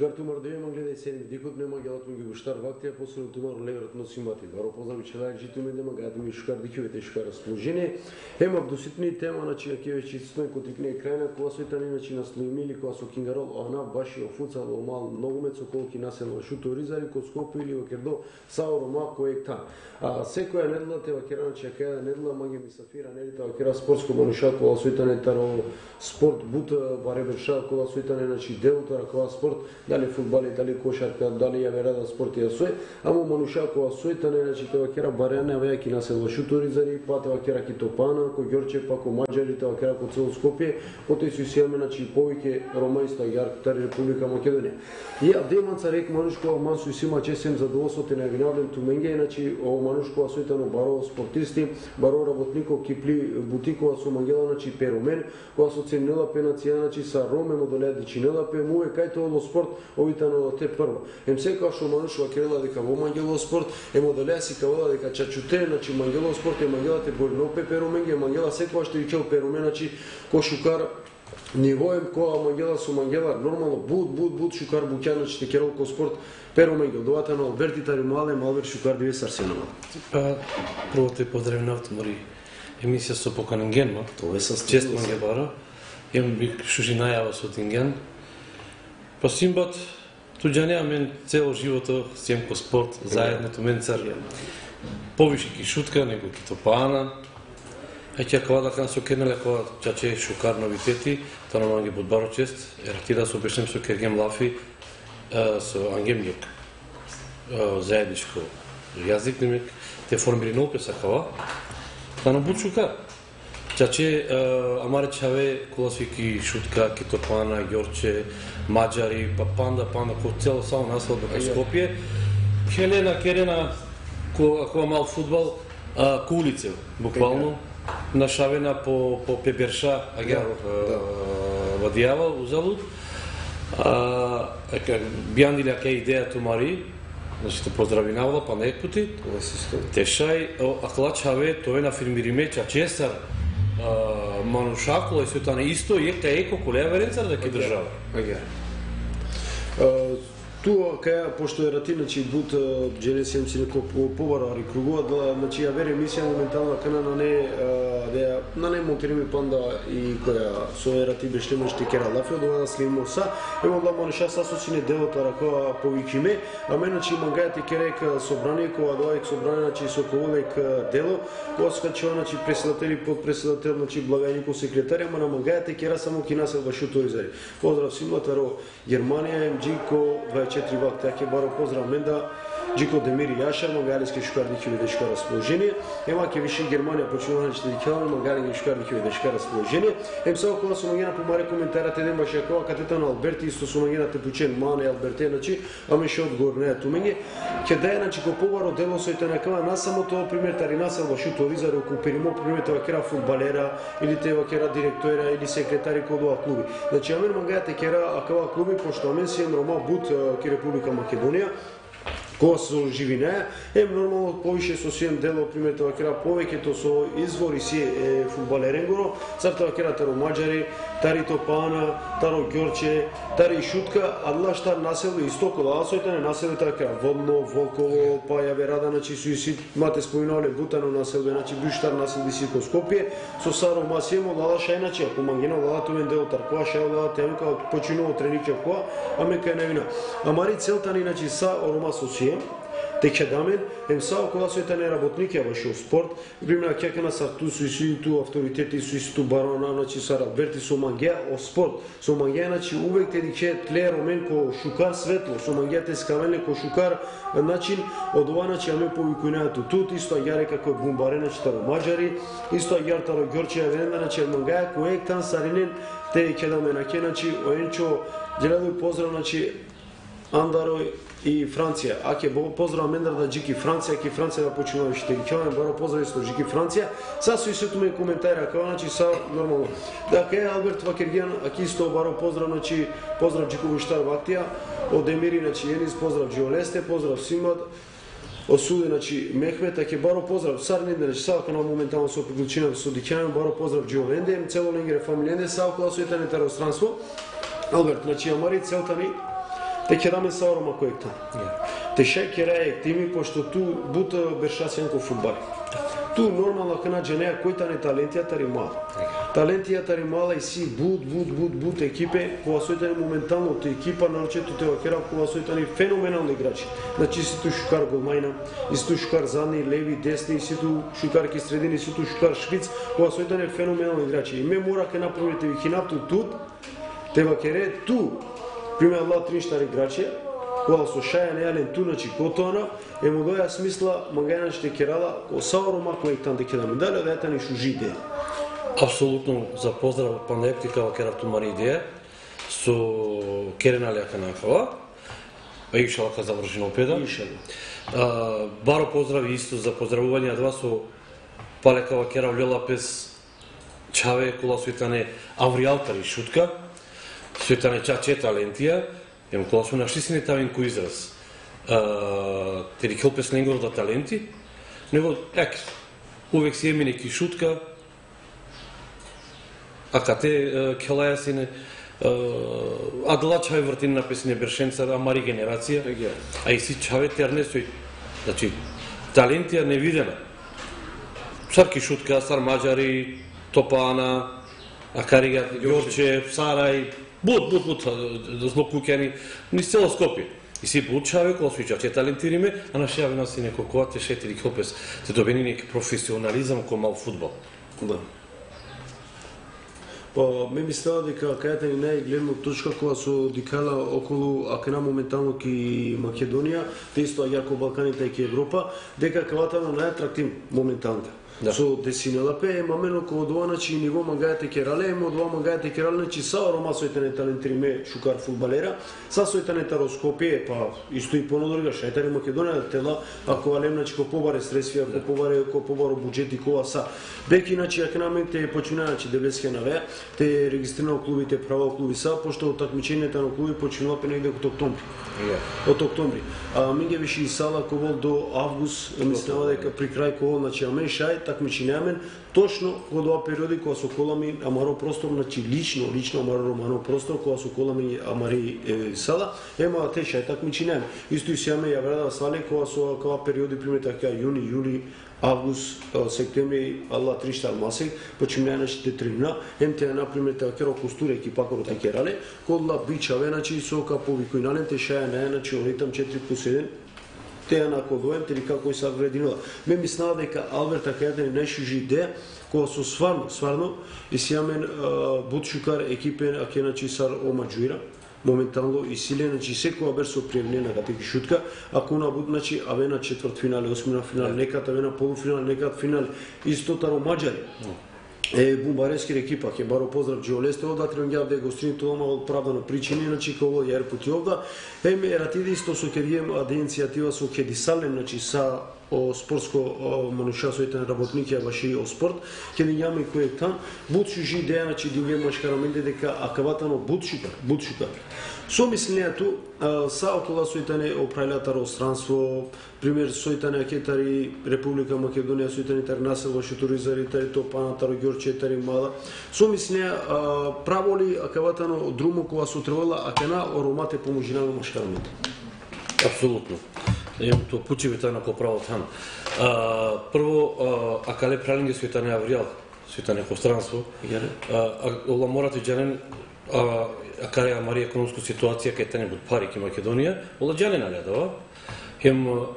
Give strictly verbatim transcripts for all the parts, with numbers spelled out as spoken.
Шукар тумар да има гледај седми дикот нема гелат ми ги буштар вактија после тумар леверот носи мати. Баро поздрави челај житу ми дема гад ми Шукар дикивете Шукар расположение. Ема доситни тема на че ќе веќе стои котикне крајна кога сојтани иначе на Слоимили кога со Кингарол она баши офуцал во мал ногомет со колки населно шуто ризари ко Скопје или во Кердо Сао Рома кој та. А секоја недела те вакера на че кај недела маги мисафира недела вакера спортско манушак кога сојтани таро спорт бут бареберша кога сојтани значи делтара кога спорт дали фудбали дали кошарка дали ја верада спорт ја сој ама мануша кога сојтани значи те вакера барене веќе на село Шуторизари па те вакера ки Топана ко Ѓорче па ко Маđари те вакера ко цело Скопје потоа се сијаме значи повеќе ромајста јарктар Република Македонија. Ја деманца рек манушко мансу сима чесем задоволството на гнавден туменге значи о манушко сојтано баро спортисти баро работнико кипли бутикова со мангела значи перомен кога со ценела пенација значи са роме модолеа дичинела пе му е кај тоа во спорт овитано те прво. Ем секоја што манушко керела дека во мангело спорт е модолеа си кавала дека чачуте значи мангело спорт е мангелате борно пе пероменге мангела секоја што ичел перомен значи кошукар нивоем која мангела со мангела нормално буд буд буд Шукар буќан значи те керол ко спорт пероменге одовата на Алберти Тари Мале Малбер Шукар дивес Арсенала. Па прво те поздравам на автомори емисија со поканен ма. Тоа е со чест манге бара. Ем бик шужи најава со тинген. Па симбат туѓанеа мен цело живото сем ко спорт заедно ту мен цар. Повише ки шутка него ки Топана. Е ќе кога да кан со кенеле кога чаче Шукар новитети, тоа на манге бод баро чест. Ератира со обешнем со Кергем Лафи со Ангем Јок. Заедничко јазик немек те формири нопе сакава. Та на буд Шукар. Чаче амаре чаве коласвики шутка ки Топана, Ѓорче, Маđари, па панда панда ко цело само насело до Скопје. Хелена Керена ко ако мал фудбал ко улице буквално нашавена по по Пеберша агар во Дијава узалуд. А ека бијандиле кај идеја тумари. Значи те поздрави навла па нек пути. Тешај аклачаве тоа на фирмириме чачесар манушакула и се тоа исто ека еко колеја веренцар да ке држава. Туа каја пошто е рати значи бут дженесијам си неко побарари кругува да значи ја вере емисија моментално кана на не да на не монтираме панда и која со ерати беше можете кера лафи од да слимо са емо да мануша са со сине делото рака повикиме а мен значи мангајате керек собрание кога доаѓа собрание значи со ководек дело кога скачува значи председател и подпредседател значи благајнико секретар ама на мангајате кера само ки населба Шуторизари. Поздрав симата ро Германија емџико четири вак таке баро поздрав менда Джико Демири Јаша мангалиски Шукар дикиве дешка расположение ема ке виши Германија почнува да чити кела мангалиски Шукар дикиве дешка расположение ем само кога со мангена помаре коментарат еден баше кога катетан Алберти исто со мангена тепучен мане Алберте значи аме ше одговор не тумење ке дај значи ко побаро дело сојте на кава на само тоа пример тари насел во Шуторизари околу перимо пример тоа кера фудбалера или те кера директора или секретари код ова клуби значи аме мангајате кера акава клуби пошто аме си Рома бут ки Република Македонија кога со живине е нормално повише со сиен дело пример тоа кера повеќето со извори си е фудбалеренгоро цар тоа кера таро Маđари тари Топана таро Ѓорче тари шутка адла штар насело истоко да сојтане насело тоа кера Водно Волково па ја верада значи со си мате споминале Бутано насело значи буштар насело си ко Скопје со Саро Масимо лала шајначи ако мангено лала тоен дел таркоа шај лала темка починово трениче коа аме кај навина амари целта ни значи са Орома со си Тече дамен, ем сао кога сојтане работник ја баше спорт, примера кека на сарту со исту авторитети со исту барона, значи са Алберти со мангеа о спорт. Со мангеа значи увек те дике тле ромен ко Шукар светло, со мангеа те скавеле ко Шукар начин од ова значи аме повикувањето тут исто јаре како бумбарена читаро Маđари, исто јар таро Ѓорче венда значи мангеа кој тан саринен те ќе даме на ке значи оенчо делај поздрав значи Андарој и Франција. Аке поздрав Мендар да Джики Франција, ки Франција да почнува што ги ќе баро поздрав исто Джики Франција. Са со истото ме коментара како значи са нормално. Да ке Алберт Вакергиан, аки исто баро поздрав значи поздрав Джико Буштар Вактија, од Емири значи Енис поздрав Џиолесте, поздрав Симат. Осуде значи Мехмет, аке баро поздрав Сарнин, значи сака на моментално со приклучина со Дикјан, баро поздрав Џиоленде, цело ленгере фамилиенде, сака со етане стаространство. Алберт, значи амари целта ни Те ќе даме саорома кој тан. Те шај ќе рај тими пошто ту бута бершасенко фудбал. Ту нормално кана дженеа кој тан е талентијата ри мала. Талентијата ри мала и си бут бут бут бут екипе кога сојтани моментално те екипа нарочето те вакера кога сојтани феноменални играчи. Значи си ту шукар голмајна, и си ту шукар задни, леви, десни, и си ту шукарки средини, и си ту шукар шпиц, кога сојтани феноменални играчи. И ме мора ке направите ви хинапту тут, те вакере ту, пример ла три штари играчи, кога со Шајан Јален ту начи котоана, е му доја смисла магајна ще керала, о саорома кој тан деке да ми дали, да ета ни шужи идеја. Апсолутно за поздрав панептика во керав тумари идеја со Керена Лјака Нахала, а и шалка завршено опеда. А, баро поздрави исто за поздравување од вас со Палека во керав Лелапес Чаве кола сојтане Авриалтари шутка, сојтане чаче талентија, ем кола су нашисине тавен кој израз. А, тери хелпес ненгор да таленти, него ек увек си еми неки шутка. Ака те келајасине адла чај вртин написане бершенца амари генерација, а и си чаве терне сој, значи талентија невидена. Сарки шутка, сар маđари, Топана, Акарига, Јорче, Сарај, бут бут бут злокуќани, низ цело Скопје. И си бут чаве кога сој чаче талентириме, а на шејави нас и некој кога те шетири хопес, те добени неки професионализам кој мал фудбал. Да. Па, ме мислела дека кајата ни најгледна точка кога со дикала околу акена моментално ки Македонија, те исто јако Балканите и ки Европа, дека кавата на најатрактивно моментално. Да. Со десинелапе е мамено кога од ова начи ниво магајате керале, емо од ова магајате керале, начи са рома сојтане талентириме шукар фудбалера, са сојтане тароскопие, па исто и понодорга шајтари Македонија тела, ако алем начи ко побаре средства, ако побаре ко побаро буџети кога са. Беки начи акнаменте почина начи деветдесетте навеа, те регистрирано клубите право клуби са, пошто такмичењето на клуби починува пе негде од октомври. Yeah. Од октомври. А минге виши сала ковол до август, мислева дека при крај ковол начи амен шај такмичењамен точно во тоа периоди кога со колами амаро простор, значи лично, лично амаро романо простор кога со колами амари е, сала, ема те шај такмичењамен. Исто и сеаме ја врада свале кога со кога периоди пример така јуни, јули, август, септември, алла три штар масек, починејаначите трибна, ем те например така костуре екипа кој те керале, кодла бичаве, значи со капови кој нален те шаја најначи оритам четири плюс еден, те на кодоем тели како и са врединила. Ме мислела дека Алберт така не најшужи идеја кога со сварно, сварно и сиамен бутшукар екипен аке начи сар омаџуира моментално и силе, значи секоја бер со пријавнена катеки шутка, ако на буд, значи, аве на четврт финале, осмина финале, некад аве на полуфинале, некад финале, исто таро маđари. Е, бумбаревски екипа, ќе баро поздрав Джиолесте, овда тренѓав да гостини тоа од правдано причини, значи како јар пути овда. Еме ратиди исто со кедием аде иницијатива со Кедисален, значи са о спортско манушасојтен работник ја баши о спорт, кеди јаме кој е там, бутши жи идеја, значи динге машкараменде дека акаватано бутшукар, бутшукар. Со мислењето са околу сојтане оправилата пространство, пример сојтане акетари Република Македонија, сојтане тари насел во шуторизари, тари Топана, тари Ѓорче, тари Мала. Со мислења праволи акаватано друмо кога со требала акена оромате поможина на машкараменде. Апсолутно. Јам тоа пучеви тај на поправо там. А, прво, а, акале пралинге сојтане Авријал, сојтане пространство. А, ола морате џанен а, акаре амари економска ситуација кај тане бут пари ки Македонија, ола џанен алјадава. Јам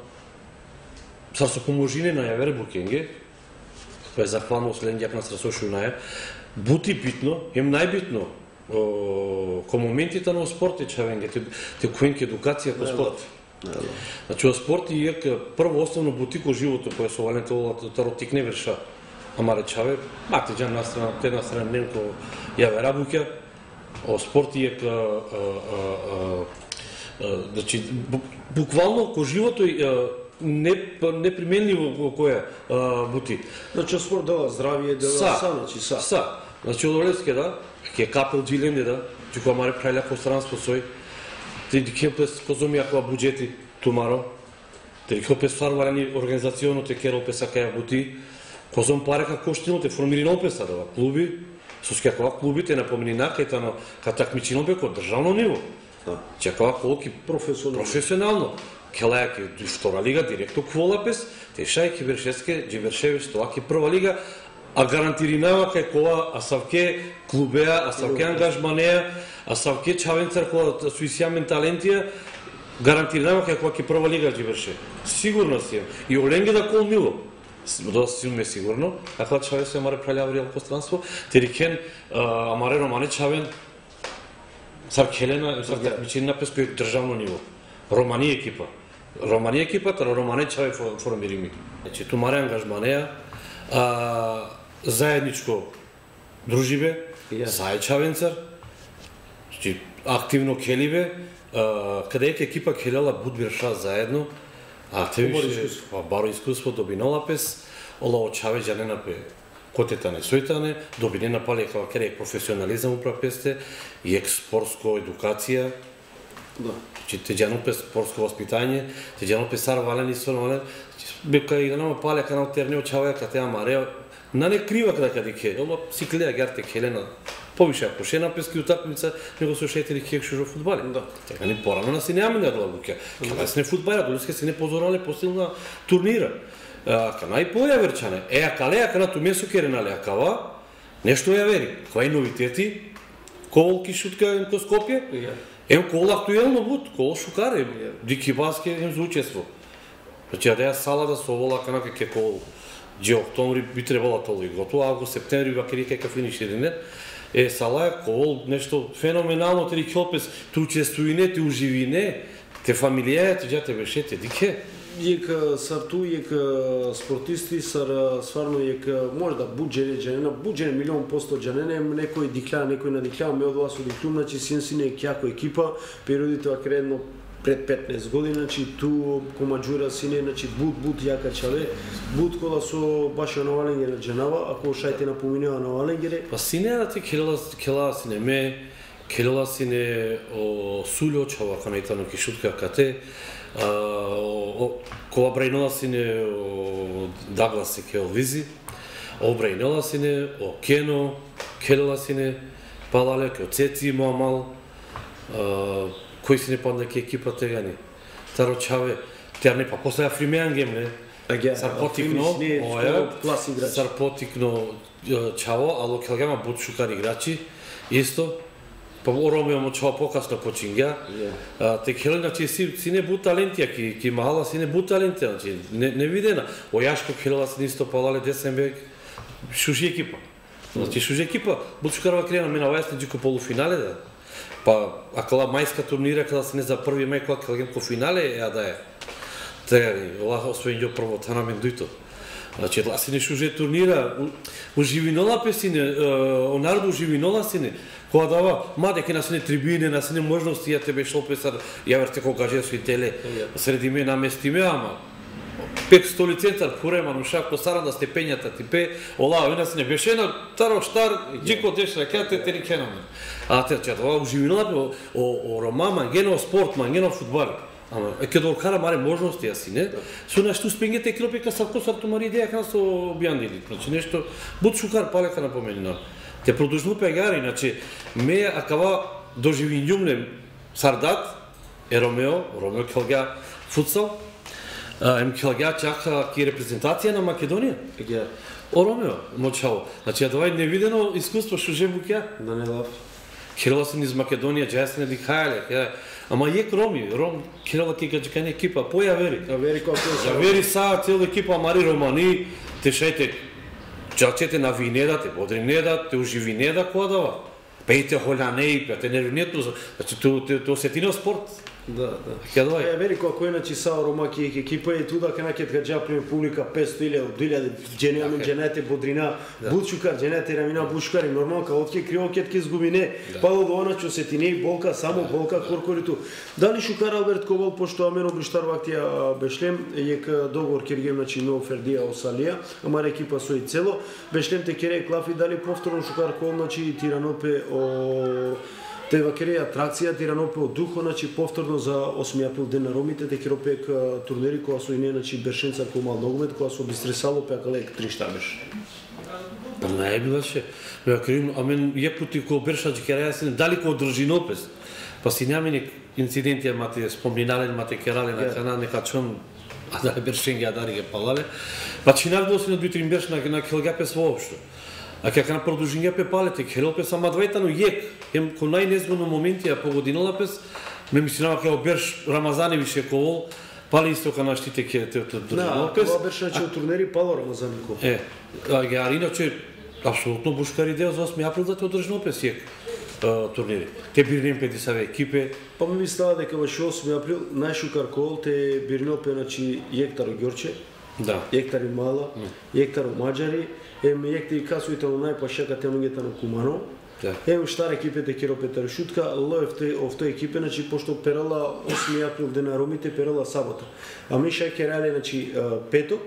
сар со поможине на јавер букенге, кој е захвално следњак на срасошу на ја, бути битно, јам најбитно ко моментите на спорт чавенге, те, те коенке едукација по спорт. Значи, во спорт и ек прво основно бутико живото кој со валенто таротик не верша, ама речаве, мате џан настрана, те настрана ненко јаве рабуќа, о спорт и ек значи, буквално ко живото не неприменливо во која бути. Значи, спорт дава здравје, дава са, значи са. Са. Значи, од Олевске да, ке капел джиленде да, чуко амаре прајля пространство сој, те дикепес позоми ако буџети тумаро, те дикепес фарварани организационо те керо песа каја бути, козом парека коштино те формирано песа да клуби, со скакова клубите напомени накајта на ка такмичино бе ко државно ниво. Чекава колки професионално. Професионално. Келајаки втора лига директно Кволапес, тешајки Бершевске, Джибершевиш, тоаки прва лига, а гарантиринава кај кола Асавке клубеа, Асавке ангажманеа, Асавке Чавенцар кола суисјамен талентија, гарантиринава кај кола ке прва лига Джиберше. Сигурно си. И Оленге да кол мило. Доста си ме сигурно. Така Чавен се маре пралјава реал пространство. Терикен амаре Романе Чавен сар Келена, сар такмичени напес кој државно ниво. Романи екипа. Романи екипата, Романе Чавен формирими. Значи ту маре ангажманеа, а, заедничко дружибе, yeah. Зај Чавенцар, значи активно келибе, каде екипа келела Будберша заедно, а те више баро искуство добинола пес, ола очаве джанена пе котетане сојтане, добинена пале као кере професионализам упрапесте и експортско едукација. Да. Че те джанопе спортско воспитање, те джанопе сар вален и сон вален, бека и нама пале канал терне очаваја кате амареа, на не крива каде каде ке, ома сиклеа герте келена, повише ако ше напески утакмица, него со шетери кек шужо фудбали. Да. Така ни порано на си неаме на длабуке. Каде се не фудбали, долиске се не позорале постилна турнира. Кана и поја верчане. Е, а калеа кана ту месо керенале, а кава, нешто ја вери. Кај новитети, колки шутка ем ко Скопје, ем кол актуелно буд, кол шукаре, дики баске ем за учество. Значи, ја деја сала да совола кана ке кол Джи октомври би требала толу и готово, август, септември, вакери кај финиш или не. Е, сала е кол нешто феноменално, тери кјопес, ту учествуине, те уживине, те фамилија, те джате бешете, дике. Јека сарту, јека спортисти, сар сварно јека може да буџене джанена, буџене милион посто джанене, некој дикля, некој надикля, ме од вас одиклюм, значи син сине кјако екипа, периодите вака едно пред петнаесет години, значи ту комаџура сине, значи буд буд јака чаве, буд кола со баш на Валенгере джанава, ако шајте напоминува на Валенгере. Па сине да ти келела кела сине ме, келела сине о сулјо чава канајтано ки шутка кате. Кога брајнала сине о Даглас и Келвизи, о брајнала сине о Кено, келела сине палале ке Цеци Мамал, кој сине панда ке екипа тегани. Таро чаве, тер не па после Афримеангем не. Сар потикно, оја, сар потикно чаво, ало келгама бут шукар играчи, исто. Па Ромео му чао покасно почингја. Те келе, значи, си не бут талентија, ки, ки мала си не бут талентија, значи, не, не видена. Ојашко келела си нисто палале десен век, шужи екипа. Значи, шужи екипа, бут шукарова крена мена ојасне джико полуфинале, да. Па, акала мајска турнира, када се не за први мај, кога келгем по финале, ја да е. Тега, ола освоен јо прво тана мен дујто. Значи, ла си не шуже турнира, уживинола песине, онарду уживинола сине, кога дава, маде ке насине трибине, насине можности, ја тебе шо песар, ја верте кога каже со и теле, среди ме наместиме, ама, пек столи центар, пурема, нушако, саранда степењата ти пе, ола, вина си не беше на таро штар, джико деш ракете, тери кеномен. А те, че това уживинола, о Рома, мангено спорт, мангено фудбал. Ама, е ке докара маре можности јаси, не? Со нешто спингете килопека сарко сарту мари идеја кана со бијандили. Значи нешто буд шукар палека напоменина. Те продужну пегари, значи ме акава доживињумлем сардат е Ромео, Ромео келга футсал. Ем келга чака ки репрезентација на Македонија. Еге. О Ромео, мочао. Значи тоа е невидено искуство што же буќа. Да не лав. Келела си низ Македонија, джесне дихајле, ама јек Роми, Ром, келела ки гаџикане екипа, поја вери. А вери како се. Ја вери са цела екипа мари Романи, те шајте, чачете на винеда, те бодринеда, те уживинеда која дава. Пејте холјанеи, пејте нервинето, значи то сетино спорт. Да, да. Ќе доај. Е, вери кој начи са Ромаки екипа и туда кај ќе гаџа приме публика петсто илјади, две илјади џенеаме џенете бодрина, бучукар џенете рамина бучукари нормално као ќе криво ќе ќе изгубине, па до оначо сетине болка, само болка коркориту. Дали шукар Алберт Ковал пошто амен обриштар вактија бешлем јек договор ќе гем начи но Фердија Осалија, ама екипа со и цело, бешлем те кере клафи дали повторно шукар Ковал начи Тиранопе о Те вакере атракција Тиранопе од духо, значи повторно за осми април ден на Ромите, те керопек турнери која со и не, значи Бершенцар кој мал ногомет, која со Бистресало пекале три штабеш. Па не е билаше. Ме крим, амен ја пути ко Берша џикераја се дали ко Држинопес. па си нямени инциденти, мате спомнинале, мате керале на хана, нека чон, а да бершенги, а да ги палале. Па чинав доси на две-три берш на на келгапес воопшто. А ќе на продолжиња пе палете, керел пе сама двајта, но јек, ем ко најнезгодно моменти, а погодинала пес, ме мислинава ке оберш Рамазаневише ковол, пали истока на штите ке те држава пес. Да, беше че турнери пало Рамазаников. Е, а ги арино че апсолутно бушкари дел за осми април да те одржно пес јек турнери. Те бирнем пе десаве екипе. Па ми става дека беше осми април најшукар кол те бирнел пе значи Јектаро Ѓорче. Да. Јектари Мала, Јектаро Маđари, ем Јектари Касуите на најпашака темањата на Кумано. Да. Ем штар екипите Киро Петар Шутка, лоевте овто екипе, значи пошто перала осми април дена ромите перала сабота. А ми ша керале значи петок,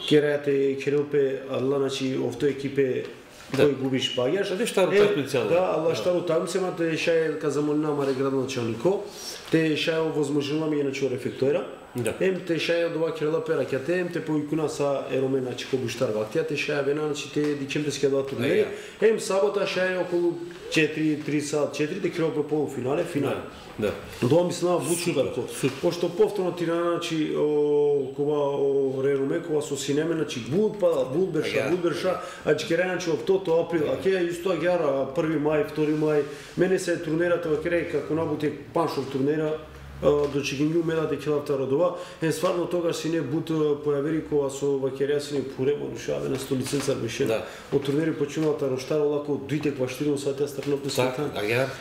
керате керелпе алла значи овто екипе кој губиш паѓаш. Аде штару такмица. Да, алла штару такмица, те ша казамолина маре градоначалнико. Те ша овозможила ми иначе рефектора. Да. Ем те шаја од ова керела пера ќе те ем те поикуна са ероме значи ко буштар вактија те шаја вена значи те дичем те два турнери. Ем сабота шаја околу четири три сат четири те керела по полуфинале, финале. Да. Тоа мислам бучудар ко. Пошто повторно Тирана значи кога о реруме кога со синеме значи бул па бул берша бул берша а чекера значи октото април а ќе исто агара први мај втори мај мене се турнерата во кере како набуте паншов турнера до чигињу медате келавта родова, е стварно тогаш си не бут појавери кога со вакерија си не поремо рушаве на столиценца беше. Да. Од турнери починалата роштара лако дуите кваштирно сатја стрпно посетан.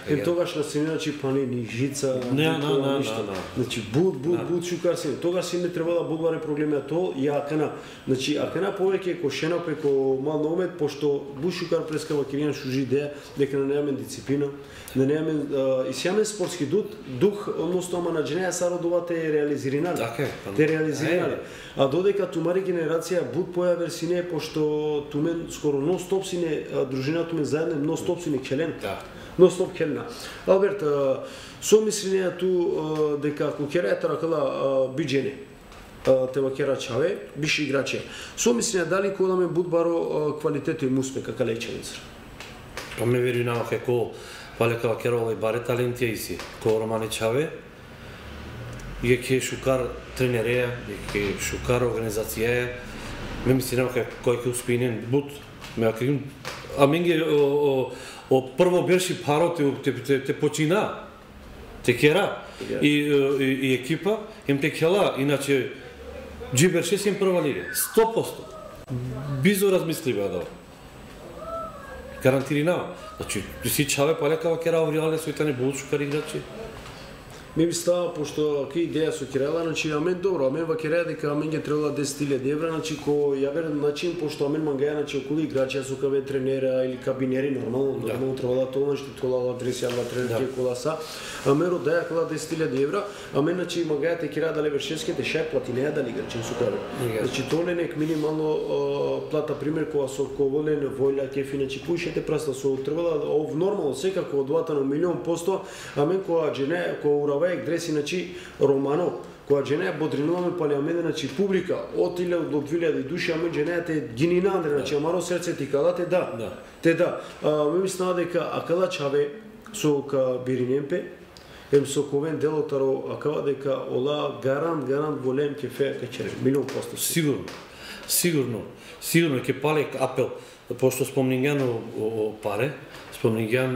Е тогаш на сине значи пани ни жица, не, на, на, ништо. Значи бут бут бут шукар си. Тогаш си не требала будваре проблеми а то и акана. Значи акана повеќе ко шена преко мал номет пошто бушукар преска вакеријан шужи идеја дека не немаме дисциплина, не немаме и сјамен спортски дух, дух односно на дженеја сародова те реализиринали. Така е. Те реализиринали. А додека тумари генерација буд појавер сине пошто тумен скоро нон-стоп сине дружина тумен заедно нон-стоп сине келен. Да. Нон-стоп келена. Алберт, со мислење ту дека ако керајата ракала биџене те вакера чаве, биш играче. Со мислење дали кога буд баро квалитет и успех како леченица. Па ме верувам како палека вакера и баре талентија иси. Ко Романи Чаве je ke šukar trenereja, je ke šukar organizacije, me mislim дека кој ќе успинен бут, ме акрим, а менге о, о, о прво берши паро те, те, те, те почина, те кера, и, и, и екипа, им те кела, иначе джиберше си им прва лига, сто проценти. Бизо размисливе да. Гарантиринава. Значи, си Чаве палека вакера овриале сојтане бул шукар играчи. Ми би става, пошто ке идеја со Кирела, значи амен добро, амен вакереја дека амен ќе требала десет илјади евра, значи ко ја верам начин, пошто амен мангаја, значи околу играчи, со каве тренера или кабинери, нормално, да. Нормално требала тоа, значи тола адреси, ава тренер ке кола са, амен родаја кола десет илјади евра, амен значи мангаја те Кирела да левершевски, те шај платинеја да играчи со каве. Значи тоа не нек минимално плата пример кога со коволен воља кефи, значи пуишете праста со требала ов нормално секако од двата на милион посто, амен кога джене, кога вајек дреси, значи, Романо, која дженеја бодринуваме палиамене, значи, публика, од илјада до две илјади души, аме дженеја те гинина, Андре, значи, амаро срце ти кала, те да, да. те да. Ме мислена дека акала Чаве со ка Биринемпе, ем со ковен делотаро, акала дека ола гарант, гарант голем ке феја качере, милион посто. Сигурно, сигурно, сигурно ке палек апел, пошто спомнињан о паре, спомнињан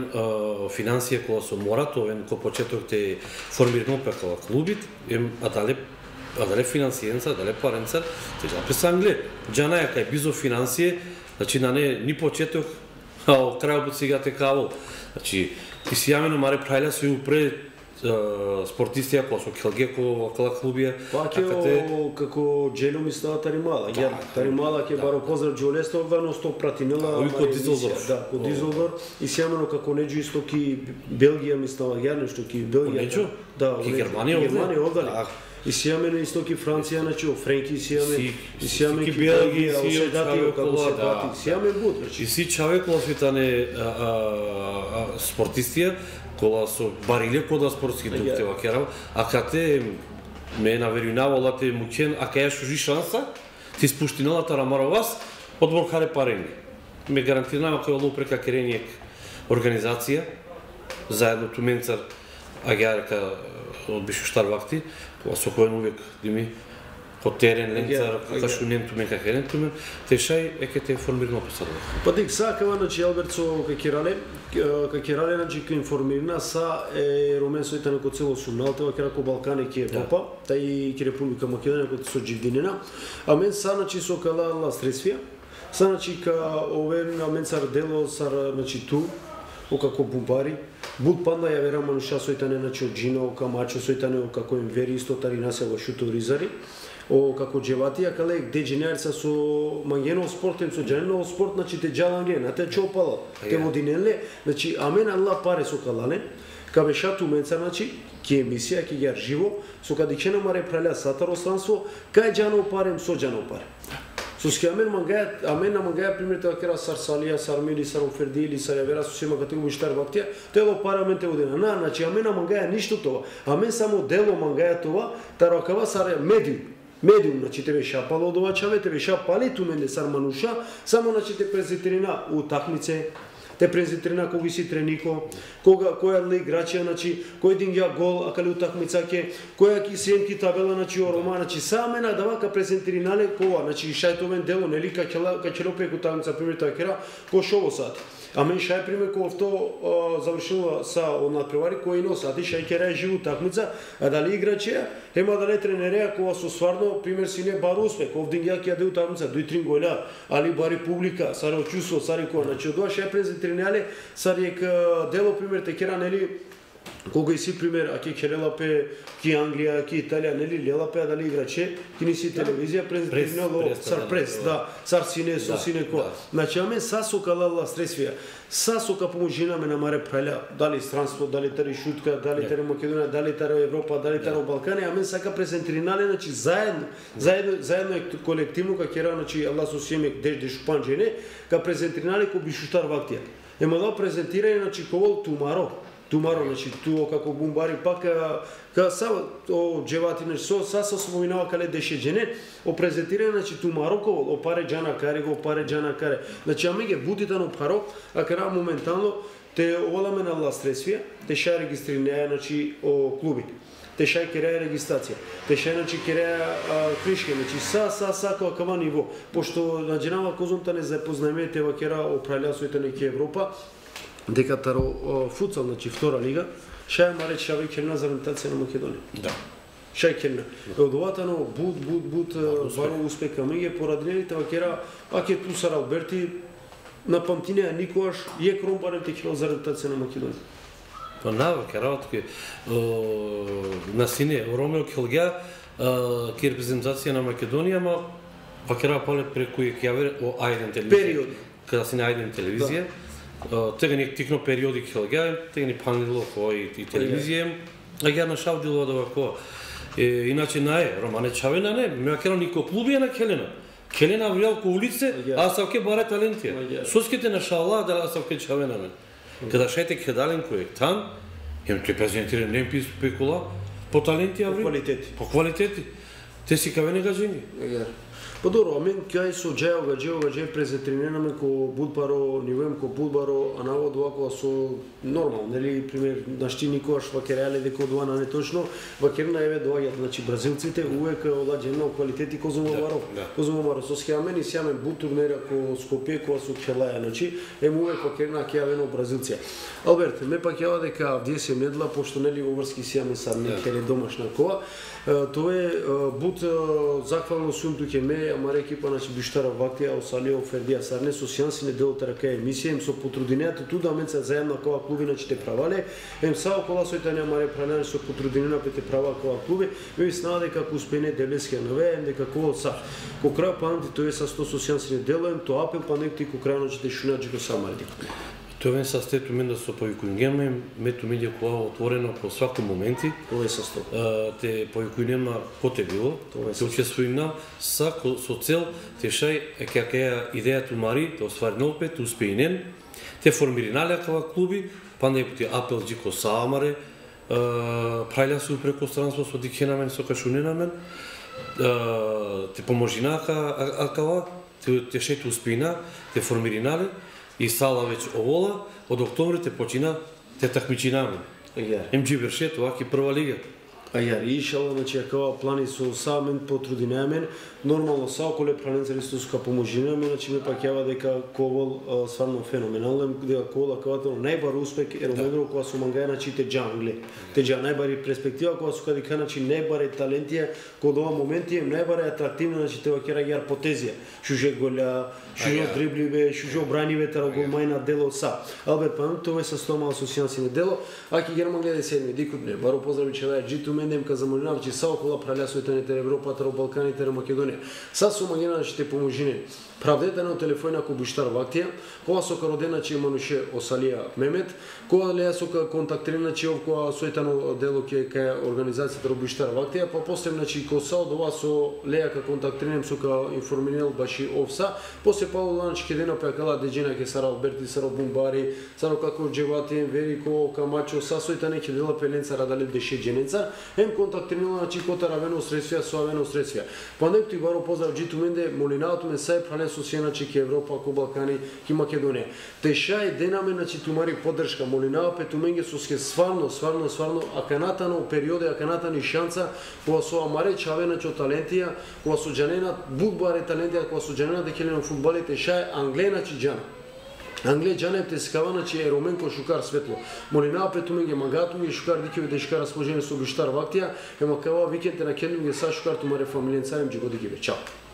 финансија која со морат, овен ко почеток те формирано пекала клубит, ем а дале а дале финансиенца, дале паренца, те запис англе. Џанаја кај бизо финансија, значи на не ни почеток, а о крајот сега те каво. Значи, и си јамено маре прајла се упре спортистија која со Келгеко вакла клубија. Па ќе како Джело ми става Таримала. Ја Таримала ќе баро поздрав Џолесто вано сто пратинела. Ови ко Дизелдорф. Да, ко Дизелдорф. И сјамено како Неџо исто ки Белгија ми става ја нешто ки Белгија. Неџо? Да, ки Германија овде. Германија овде. И сјамено исто ки Франција, значи Френки сјаме. И сјаме ки Белгија, си Седати како се пати. Сјаме буд. И си човек лосвитане спортистија кола со бариле кода спортски дух те вакерав, а кате ме наверувала те мукен, а кај шужи шанса, ти спуштиналата рамаровас, одбор харе паренги. Ме гарантирам кој олу прека керениек организација, заедно туменцар агјарка од Бишуштар вакти, кога со кој увек дими по терен, ленцар, како што нем тумен, како ерен тумен, те шај еке те формирано посадува. Па дик сакава, значи, Алберт со Какирале, Какирале, значи, ке информирна са е Ромен сојта на цело сумналтева, ке рако Балкане, ке Европа, тај ке Република Македонија, ке со Дживдинина, а мен са, значи, со кала средствија, са, значи, ка овен, а мен сар дело, сар, значи, ту, о како бумбари, буд панда ја вера мануша сојтане, значи, од Джина, о камачо сојтане, о како им вери исто тари насева шутовризари, о како джеватија кале де дженерца со мангено спортен со дженено спорт, значи те джаланге на те чопала те водинеле, значи амен алла паре со калане кабе шату менца, значи ке емисија ке ја живо со кадичена маре праля сатаро странство кај джано парем со джано паре со ски амен мангаја амен на мангаја пример тоа кера сарсалија сармили сарофердили сарјавера со сема категорија штар вактија тело параменте водина на значи амен на мангаја ништо тоа амен само дело мангаја тоа таракава сар медиум медиум, значи тебе шапало од ова чаве, тебе шапали ту менде сар мануша, само значи те презентерина утакмице, те презентерина кога си тренико, кога која ли играчија, значи кој дин ја гол, а кали утакмица ке, која ки семки табела, значи орома, значи саме на давака презентеринале кога, значи шајтовен дело, нели ка ќе ка ќе лопе утакмица пример тоа кера, ко шово сати. А мен шај пример кога вто завршила са од надпревари кој носа, а ти шај кера живу такмица, а дали играчија, ема дали тренереја кога со стварно пример си не бар успех, овдин ја ќе јаде такмица дуј три голя, али бари публика, саре очусо, саре кој, значи од тоа шај презентеринале, саре дело пример те кера нели кога и си пример, а ке Келелапе, ки Англија, ки Италија, нели Лелапе, а дали играче, ки ни си телевизија презентирано сар прес, да, сар сине со сине ко. Значи аме са со калала средствија, са со ка поможинаме на маре праля, дали странство, дали тари шутка, дали тари Македонија, дали тари Европа, дали тари Балкани, аме сака презентринале, значи заедно, заедно, заедно колективно ка кера, значи Аллах со семек деш деш панџене, ка презентринале ко Бишуштар вактија. Ема да презентирање, значи ковол тумаро. Тумаро, значи туо како бумбари пак ка са о джеватине со са со споминава кале деше джене о презентирање значи тумаро ко о паре джана каре го паре джана каре значи ами ге бутитано паро а кара моментално те оламе на ла средствија те ша регистрирање значи о клуби те ша кереа регистрација те ша значи кереа кришке значи са са са како кава ниво пошто на дженава козумта не запознаеме те вакера о праљасоите на Европа дека таро футсал, значи втора лига, шај маре шаве керна за ориентација на Македонија. Да. Шај керна. Од оватано буд буд буд баро успеха меѓе пораднените вакера, аке ту сар Алберти на памтинеа никогаш е кромпарен те кило за ориентација на Македонија. Па навака работки на сине Ромео Келгја ке репрезентација на Македонија, ма вакера поле преку јавер о ајден телевизија. Период. Када си на ајден телевизија. Тега ни тикно периоди Келгја, тега ни панило кој и телевизија, а ја нашавдило да вако. Иначе наe, Романе Чавена не, ме кера нико клубија на Келена. Келена врел ко улице, а савке баре талентија. Соските на шала да савке Чавена мен. Када шајте кедален кој е там, им ќе презентира не пи спекула по талентија ври. По квалитети. По квалитети. Те си каве негажени. Па добро, амен кај со Джео Гаджео Гадже презентринираме ко Будбаро, нивоем ко Будбаро, а навод овако со нормал, нели пример нашти никогаш вакереале дека од на не точно, вакерна еве доаѓаат, значи бразилците увек оладжено квалитети Козумо Маро. Козумо Маро со схеамен и сјамен бут турнира ко Скопје кога со Челаја, значи ем увек вакерна ќе јавено бразилција. Алберт, ме пак јава дека вдие се медла пошто нели оврски сјамен сар не келе домашна коа. Тоа е бут захвално сум туќе ме, амаре екипа значи Биштара вактија, Осалио, Фердија Сарне со сјансине делото рака емисија, им со потрудинеато туда менца заедно која клуби значи те правале, ем са окола сојтане амаре пранање со потрудинена пете права која клуби, ме снаа дека ку успене Делескија нове, ем дека кога са. Ко крај памти тоа е со сто со сјансине дело, ем тоа апел па некти ку крај значи те шунаџи ко самарди. Тоа вен са стето мен да со повикувањема мето медија која отворено по свако моменти. Тоа е со сто. Те повикувањема коте било, тоа се учествуина са со цел те шај е кака идеја тумари, да оствари опет успеинен. Те формиринале кава клуби, па не пати апел џико саамаре, прајля се преку странство со дикенамен со кашуненамен. Те поможинака акава, те шето успеина, те формиринале. И сала веќе овола, од октомври те почина те такмичинаме. Им Джибершет, ваки прва лига. А ја решала, значи каква плани со самен потрудинемен, нормално са околе планинцари стуска поможинеме, значи ме пак јава дека Ковал стварно феноменален, дека Ковал акавателно најбар успех е ромегро кога со мангаја значи те джангле. Те джа најбари перспектива кога со кади значи најбаре талентија, кога ова моменти е најбаре атрактивно, значи те вакера јар потезија. Шуже голя, шуже дрибливе, шуже обраниве тара голмајна дело са. Алберт Пан тоа е со стома асоцијација дело, аки Герман гледа седми дикут не. Баро поздрави че джиту мендем ка замолинав че са околу праљасоите на Европа, тара Балканите, на Македонија. Са со магина ќе те поможине. Правдете на телефона ко Буштар Вактија, кога со родена че мануше Осалија Мемет, кога леа со контактирана че кога соетано дело ке кај организацијата Буштар Вактија, па после значи ко са од ова со леа ка контактирам со ка информирал баши овса, после па ланч ке дена па кала деџена ке Сара Алберти, Сара Бумбари, Сара како Джевати, Верико, Камачо, са соетане ке дела пеленца радале деше дженеца, ем контактирала значи кота равено средствија со авено средствија. Па некој баро поздрав джиту менде молинаото ме сај прале со сена че ке Европа, ко Балкани, ке Македонија. Теша е денаме значи тумари поддршка, молинава пету менге со ске сварно, сварно, сварно аканатано периоде, аканатани шанса, кога со амаре чаве начо талентија, кога со джанена будбаре талентија, кога со джанена декелено фудбали, теша е Англена чи джана. Англија джанев те скавана че е Роменко шукар светло. Молинава пету менге магату и шукар дикеве дешка расположени со Буштар Вактија, ема кава викенте на кенду ге са шукар тумаре фамилијен царем джи годи гибе. Чао.